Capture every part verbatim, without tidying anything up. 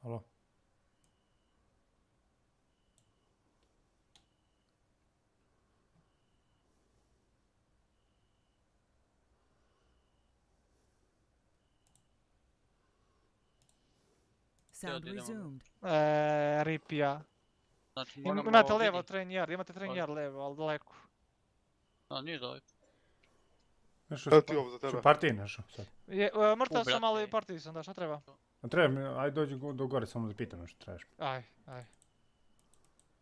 Halo? Sound resumed. Eee, ripija. Znači Im, moramo imate levo vidjeti. train yard, imate train yard levo, ali daleko. A, nije daleko. Nešto Evo ti ovo za tebe. su partije našo sad. Je, e, mrtav U, sam, brate. ali partiji sam, da, šta treba? A treba mi, aj dođi go- do gore samo da pitam nešto trebaš. Aj, aj.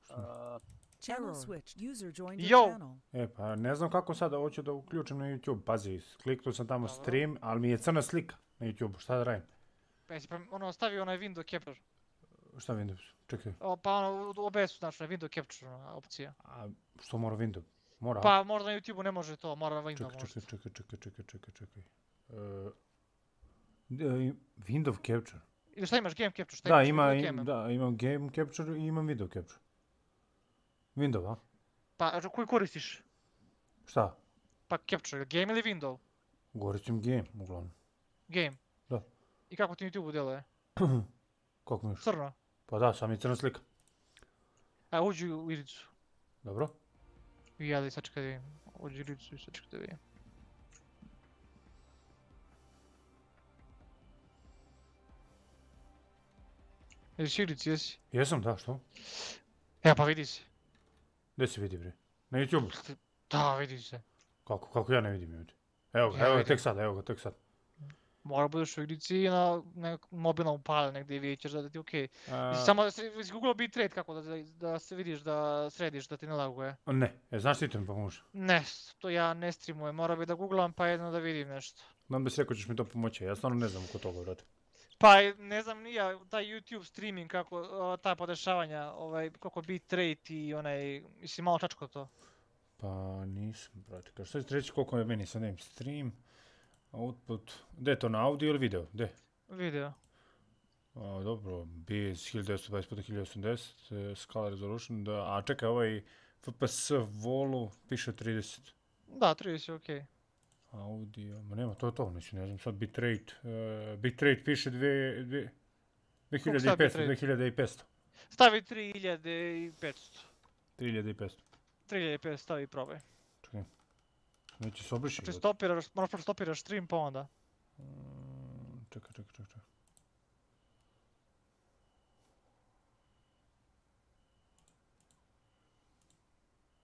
A, Channel Error. switched. User joined your Yo. channel. E pa ne znam kako sada hoću da uključim na YouTube, pazi, kliknuo sam tamo Dobro. stream, ali mi je crna slika na YouTube, šta da radim? Pa jesi pre- ono, stavio onaj window capture. Šta Windows? Čekaj, O, pa ono, u O B S-u, znači, window capture ona opcija. a što mora Windows? Mora? Pa možda na YouTubeu ne može to, mora na window čekaj, možda. čekaj, čekaj, čekaj, čekaj, čekaj, čekaj. E, de- Windows Capture. Ili šta imaš, game capture, šta Da, imaš? ima, video im, game? da, imam Game Capture i imam Video Capture. Windows, a? Pa, a koji koristiš? Šta? Pa capture, game ili window? Koristim Game, uglavnom. Game. Da. I kako ti na YouTubeu djeluje? Kako mi još? Crno. Pa da, sam je crna slika. A, uđi u iricu. Dobro? I ja da sad čekaj da vidim. Uđi u iricu i sad čekaj da vidim. Jesi u irici, jesi? Jesam, da, što? Ja, pa vidi se. Gdje se vidi, bre? Na YouTube? Da, vidi se. Kako, kako ja ne vidim ovdje? Evo ga, Ja evo ga, vidim. tek sad, evo ga, tek sad. Mora budeš u igrici i na nekom mobilnom pale negdje i vidjet ćeš da ti je okej. A, Samo da si izgooglao bitrate kako da, da, da se vidiš da središ da ti ne laguje. ne, e, znaš ti to mi pomoži? Ne, to ja ne streamujem, mora bi da googlam pa jedno da vidim nešto. Znam da si rekao ćeš mi to pomoći, ja stvarno ne znam oko toga, brate. Pa ne znam ni ja, taj YouTube streaming kako, o, ta podešavanja, ovaj, koliko bitrate i onaj, mislim malo čačko to. Pa nisam, brate, kao što ću reći koliko je meni sad name stream, output, gdje je to na audio ili video, gdje? Video. A, dobro, biz hiljadu devetsto dvadeset puta hiljadu osamdeset, e, scala resolution, da, a čekaj, ovaj F P S volu piše trideset. Da, trideset je okej. Audio, ma nema, to je to, mislim, ne znam sad bitrate, uh, bitrate piše dve, dve, Koliko sad dvije hiljade petsto, bitrate? dvije hiljade petsto, Stavi tri hiljade petsto. tri hiljade petsto. tri hiljade petsto stavi i probaj. Čekaj, neće se obriši. Znači stopiraš, moraš prvo stopiraš stream pa onda. Mm, čekaj, čekaj, čekaj, čekaj.